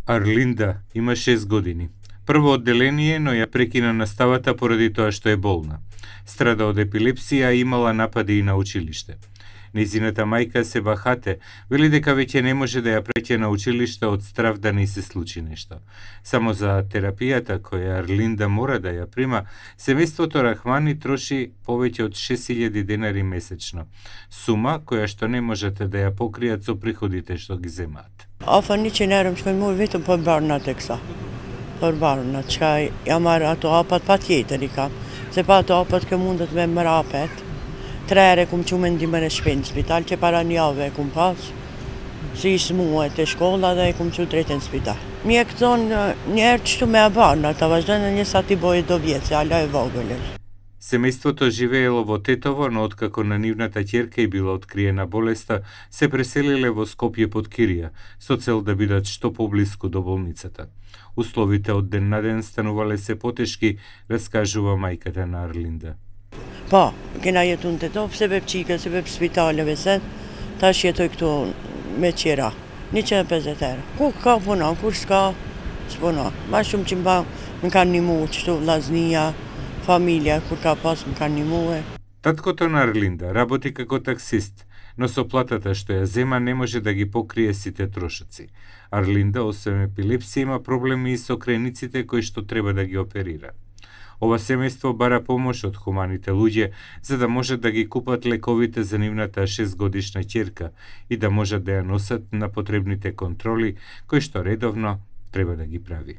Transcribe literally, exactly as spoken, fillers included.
Арлинда има шест години. Прво одделение, но ја прекина наставата поради тоа што е болна. Страда од епилепсија, а имала напади и на училиште. Незината мајка Себа Хате вели дека веќе не може да ја преќе на училиште од страв да не се случи нешто. Само за терапијата која Арлинда мора да ја прима, семејството Рахмани троши повеќе од шест илјади денари месечно. Сума која што не можете да ја покријат со приходите што ги земаат. Afar një qenë më shkojnë mua vetëm për barnat e kësa. Për barnat, që ja marrë ato apat pa tjetër i kam. Se pa ato apat kë mundet me më rapet. Tre ere kum që me ndimër e shpinë në spital, që para një ave kum pas. Si ishë muet e shkolla dhe kum që drejtë në spital. Mjek thonë njerë qëtu me a barnat, a vazhdojnë një sa ti boje do vjetë, se ala e vogëllër. Семејството живеело во Тетово, но откако на нивната ќерка и била откриена болеста, се преселиле во Скопје под Кирија, со цел да бидат што поблиску до болницата. Условите од ден на ден станувале се потешки, раскажува мајката на Арлинда. Po, kena jetu në Tetov, sebeb qike, sebeb spitaleve se, tash jetoj këtu me qira, njëqind e pesëdhjetë euro. Ku ka punon, kur s'ka, s'punon. Ma shumë që mba më kanë nimu, qështu vlaznia, familja, kur ka pas më kanë nimue. Таткото на Арлинда работи како таксист, но со платата што ја зема не може да ги покрие сите трошоци. Арлинда, освен епилепсија, има проблеми и со крениците кои што треба да ги оперира. Ова семејство бара помош од хуманите луѓе за да можат да ги купат лековите за нивната шестгодишна ќерка и да можат да ја носат на потребните контроли кои што редовно треба да ги прави.